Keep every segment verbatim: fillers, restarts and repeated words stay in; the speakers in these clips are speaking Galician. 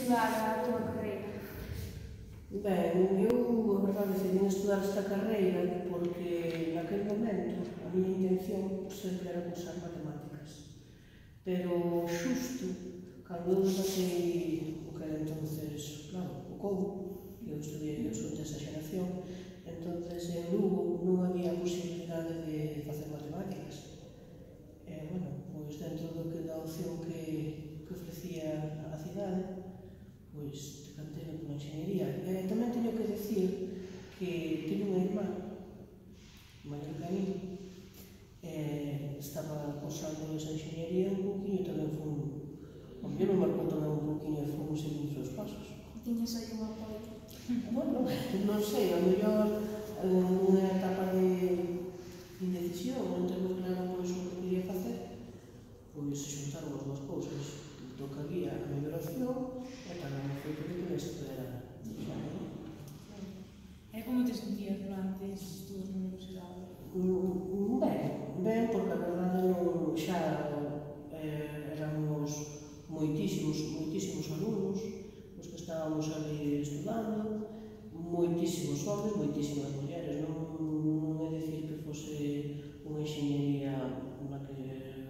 estudar a túa carreira? Ben, eu, a verdade, decidí estudar esta carreira porque naquele momento a miña intención sempre era cursar matemáticas. Pero xusto, cando eu debatei o que era entonces, claro, o C O U, eu estudiei eu son desa xeración, entonces en Lugo non había posibilidade de facer matemáticas. E, bueno, pois dentro do que da opción que, que ofrecía a cidade, pois decantei pola enxeñería. E tamén teño que decir que teño unha irmá maior que a mí, e estaba cursando esa enxeñería un pouquinho tamén fun, a mí me marcou tamén un pouquinho e fun seguindo os seus pasos. Tiñes aí un apoio? Bueno, non sei, a mellor unha etapa de indecisión, non tengo claro pois o que quería facer, pois xuntaron as dúas cousas, do que había a mellor opción e tamén o feito de que me estudara. E como te sentías durante estes estudos na universidade? Ben, ben, porque a verdade non xa eh, éramos moitísimos, moitísimos alumnos os que estábamos ali estudando, moitísimos homens, moitísimas mulleres, non, non é dicir que fose unha enxeñería na que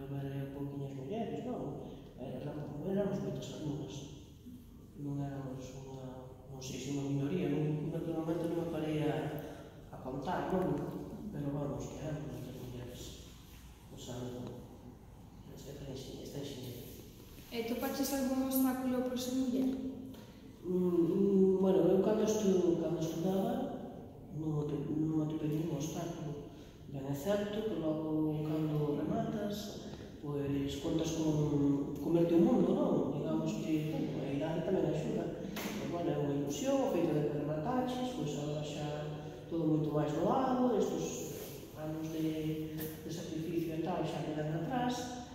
houbera pouquiñas mulleres, non, éramos, éramos moitas alumnas, non éramos unha, non sei se unha minoría, non, naturalmente non me parei a, a contar, non? Pero vamos, que eran moitas mulleres usando esta enxeñería. E topaches algún obstáculo por ser muller? Mm, bueno, eu cando, estu, cando estudaba non atopei ningún obstáculo. Ben é certo que logo cando rematas, pois contas con comerte o mundo, non? Digamos que bueno, a idade tamén axuda. Pero, bueno, é unha ilusión, o feito de que remataches, pois agora xa todo moito máis doado, estes anos de, de sacrificio e tal xa quedan atrás.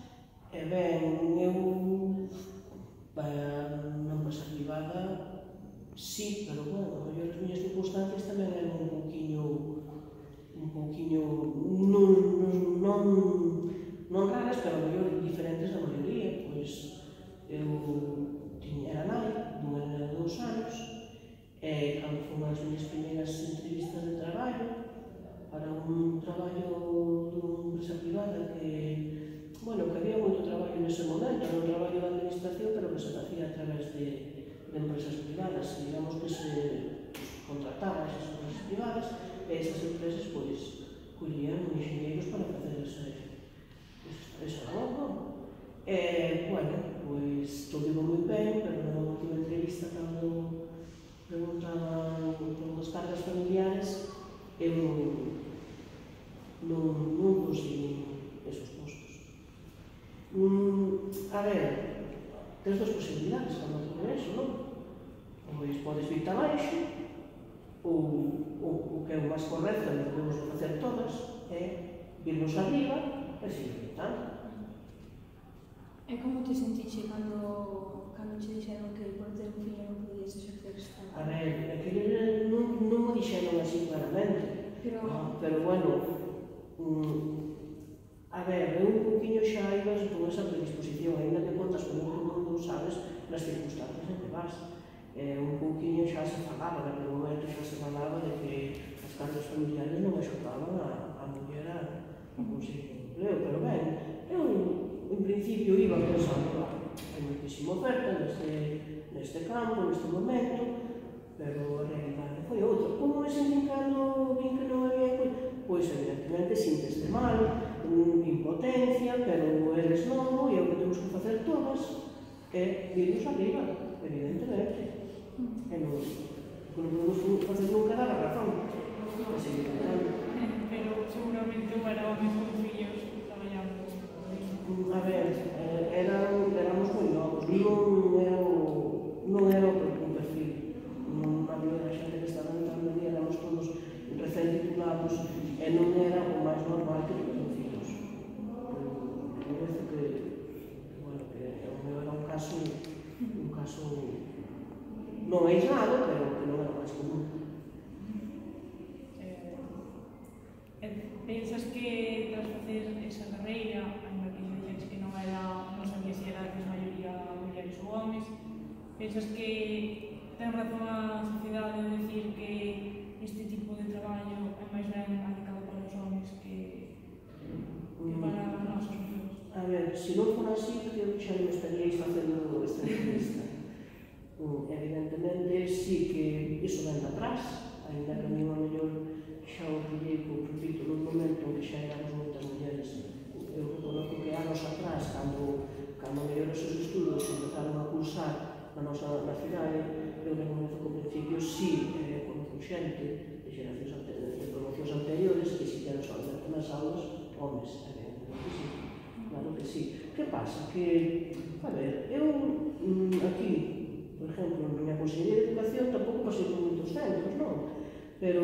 E ben, eu na empresa privada sí, pero bueno, a mellor as miñas circunstancias tamén eran un pouquiño un pouquiño non, non, non raras, pero a mellor diferentes da maioría, pois eu tiña, era nai dunha nena de dous anos e cando foi as miñas primeiras entrevistas de traballo para un traballo dunha empresa privada que, bueno, que había moito traballo nese momento, era un traballo de administración, pero que se facía a través de, de empresas privadas, digamos que se contrataba esas empresas privadas e esas empresas, pois, collían enxeñeiros para facer ese, ese traballo. E, bueno, pois, todo iba moi ben, pero na última entrevista, cando preguntaban por as cargas familiares, eu non, non consegui esos postos. Mm, a ver, tens dos posibilidades cando todo eso, non? Pois podes vir abaixo, ou, ou o que é o máis correcto, e podemos facer todas, é virnos arriba e seguir gritando. E como te sentiche cando, cando che dixeron que por ter un fillo non podías exercer esta? A ver, é que non, non me dixeron así claramente, pero, no, pero bueno, mm, a ver, eu un poquinho xa ibas con esa predisposición, ainda que contas con un mundo, sabes, nas circunstancias en que vas. Eh, un pouquinho xa se falaba, naquele momento xa se falaba de que as cargas familiares non axudaban a, a muller a, a conseguir empleo, pero ben, eu en principio iba pensando, hai moitísima oferta neste, neste campo, neste momento, pero a realidade foi outra. Como me sentí cando vin que non había coisa? Pois evidentemente sinteste mal, impotencia, pero eres novo e o que temos que facer todas é irnos arriba, evidentemente. E non, non podemos facer nunca dar a razón. Pero seguramente para homes con fillos traballamos. A ver, eran, éramos moi novos, non era o, non era o perfil. A maioria da xente que estaba entrando ali éramos todos recén titulados e non era o máis normal que tivesen fillos. Parece que, bueno, que o meu era un caso, un caso non aislado, pero que non era o máis común. Eh, pensas que tras facer esa carreira, ainda que xa dixetes que non era, non sabías se era que a maioría mulleres ou homes, Pensas que ten razón a sociedade de decir que este tipo de traballo é máis ben adicado para os homens que, que para nós, as mulleres? A ver, se non fora así, creo que xa non estaríais facendo esta entrevista. Mm, Evidentemente, sí que iso ven de atrás, ainda que a mí, a mellor, xa o pillei, como repito, nun momento en que xa éramos moitas mulleres. Eu reconozco que anos atrás, cando, cando mellor esos estudos empezaron a cursar na nosa na cidade, eu reconozco que ao principio sí, eh, conozco xente de xeracións ante- de promocións anteriores que si que eran solamente nas aulas homes, evidentemente que sí. Claro que sí. Que pasa? Que, a ver, eu mm, aquí, por exemplo, na miña Consellería de Educación tampouco pasei por moitos centros, non? Pero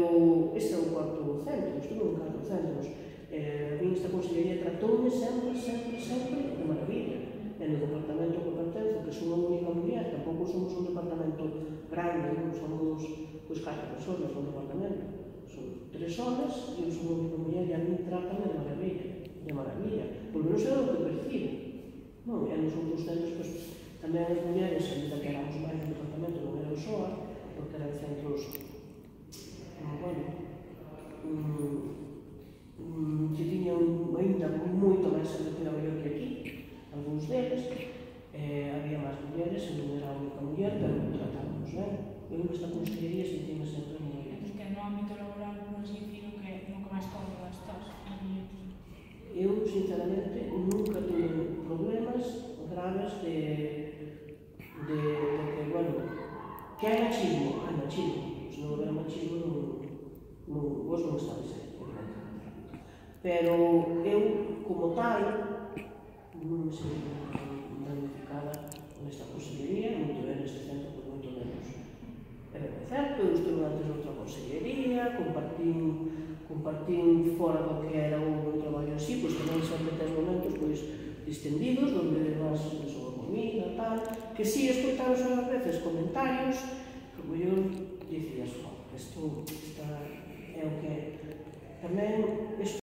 este é o cuarto centro, estuve en catro centros. Eh, a mí esta Consellería tratoume sempre, sempre, sempre de maravilla. E no departamento que pertenzo, que son unha única muller, tampouco somos un departamento grande, non somos pois catro persoas no departamento. Son tres homes e eu son unha única muller e a mí trátame de maravilla, de maravilla. Por menos é o que percibo. Non, e nos outros centros, pois, tamén as mulleres, ainda que éramos máis no departamento, non era o S O A, porque eran centros, ah, bueno, mm, mm, que tiñan ainda moito máis atención mellor que aquí, algúns deles, eh, había máis mulleres, e non era a única muller, pero tratábamos ben. Eu nesta consellería sentíme sempre moi ben. Entón, que no ámbito laboral, por así decirlo, que no que máis cómoda estás, as mulleres. Eu, sinceramente, nunca tuve problemas graves de, de, de que, bueno, que hai machismo, hai machismo. Se non houver machismo, non, non, vos non estáis aí, evidentemente. Pero eu, como tal, non me senti planificada nesta consellería, moito ben neste centro, por moito menos. É ben certo, eu estuve antes noutra consellería, compartín compartín fora do que era o meu traballo así, pois tamén sempre ten momentos pois distendidos, onde vas sobre a comida, tal, que si escoitaros ás veces comentarios, que eu dicías, oh, isto, esta é o que tamén, isto